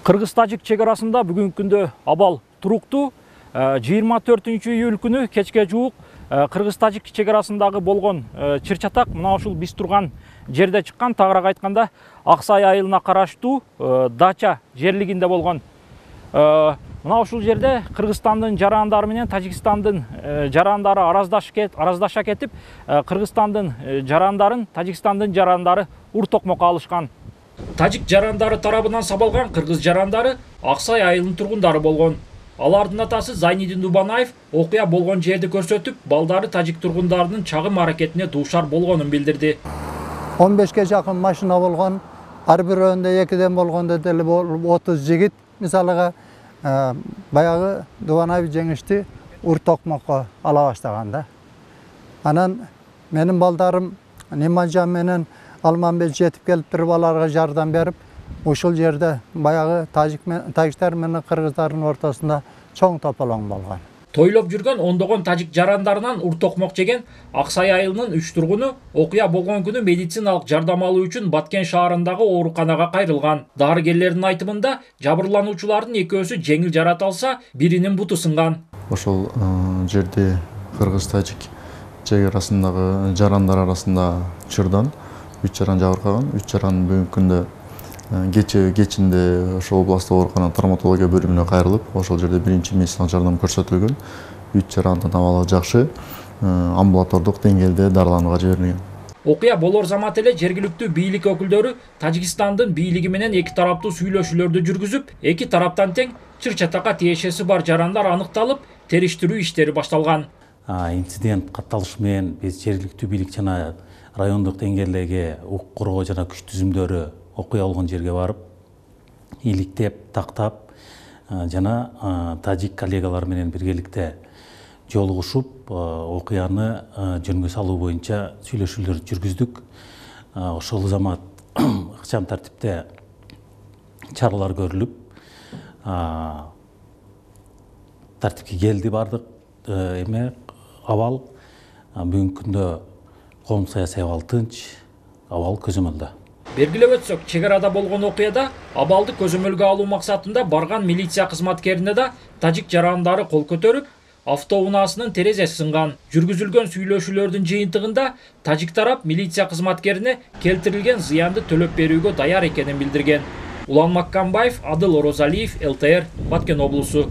Кыргыз-тажик чек арасында бүгүнкү күндө абал туруктуу. 24-июль күнү кечке жуук Кыргыз-тажик чек арасындагы болгон чыр-чатак мына ушул биз турган жерде чыккан. Тагыраак айтканда, Аксай айылына караштуу Дача жерлигинде болгон. Мына ушул жерде Кыргызстандын жарандары менен Тажикстандын жарандары араздаша кетип, Кыргызстандын жарандарын Тажикстандын жарандары ур-токмокко алышкан. Тажик жарандары тарабынан сабалган кыргыз жарандары Аксай айылынын тургундары болгон. Алардын атасы Зайнидин Дубанаев окуя болгон жерди көрсөтүп, балдары тажик тургундарынын чагым аракетине дуушар болгонун билдирди. 15ге жакын машина болгон, ар бирөөндө экиден болгондо деле 30 жигит, мисалыга баягы Дубанаев жеңишти ур-токмокко ала баштаган да. Анан менин балдарым Нимажан менен Алманбек жетип келип туруп аларга жардам берип, ушул жерде баягы тажиктер менен кыргыздардын ортосунда чоң тополоң болгон. Тойлоп жүргөн ондогон тажик жарандарынан ур-токмок жеген Аксай айылынын 3 тургуну окуя болгон күнү медициналык жардам алуу үчүн Баткен шаарындагы ооруканага кайрылган. Дарыгерлердин айтымында, жабырлануучулардын экөөсү жеңил жарат алса, биринин буту сынган. Ошол жерде кыргыз-тажик чек арасындагы жарандар арасында чырдан 3 жаран жабыркаган. 3 жаран бүгүнкү күндө кечинде ошол областтык оорукананын травматология бөлүмүнө кайрылып, ошол жерде биринчи медициналык жардам көрсөтүлгөн. 3 жарандын абалы жакшы, амбулатордук деңгээлде дарыланууга жиберилген. Окуя болор замат эле жергиликтүү бийлик өкүлдөрү Тажикстандын бийлиги менен эки тараптуу сүйлөшүүлөрдү жүргүзүп, эки тараптан тең чыр-чатакка тиешеси бар жарандар аныкталып, териштирүү иштери башталган. Инцидент катталышы менен биз жергиликтүү бийлик жана райондук деңгээлдеги укук коргоо жана күч түзүмдөрү окуя болгон жерге барып, иликтеп, тактап жана тажик коллегалар менен биргеликте жолугушуп, окуяны жөнгө салуу боюнча сүйлөшүүлөр жүргүздүк. Ошол замат ыкчам тартипте чаралар көрүлүп, тартипке келди бардык абал. Бүгүнкү күндө коом саясий абал тынч, абал көзөмөлдө. Белгилеп өтсөк, чек арада болгон окуяда абалды көзөмөлгө алуу максатында барган милиция кызматкерине да тажик жарандары кол көтөрүп, автоунаасынын терезеси сынган. Жүргүзүлгөн сүйлөшүүлөрдүн жыйынтыгында тажик тарап милиция кызматкерине келтирилген зыянды төлөп берүүгө даяр экенин билдирген. Улан Маккамбаев, Адыл Орозалиев, ЛТР, Баткен облусу.